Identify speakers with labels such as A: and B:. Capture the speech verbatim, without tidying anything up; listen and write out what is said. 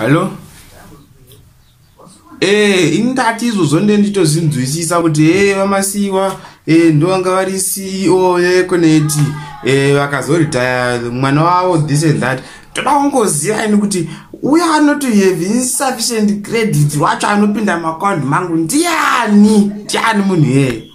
A: Hallo? Eh, ini ndati izvozvo ndenditozinzwisisa kuti e VaMasiyiwa e ndovanga vari C E O yeEconet, e vakazoritaya, mwana wavo, this and that. Toda kungoziva ini kuti uyo anoti have insufficient credit wacho anopinda muaccount mangu ndiani? Ndiani munhu iyeye?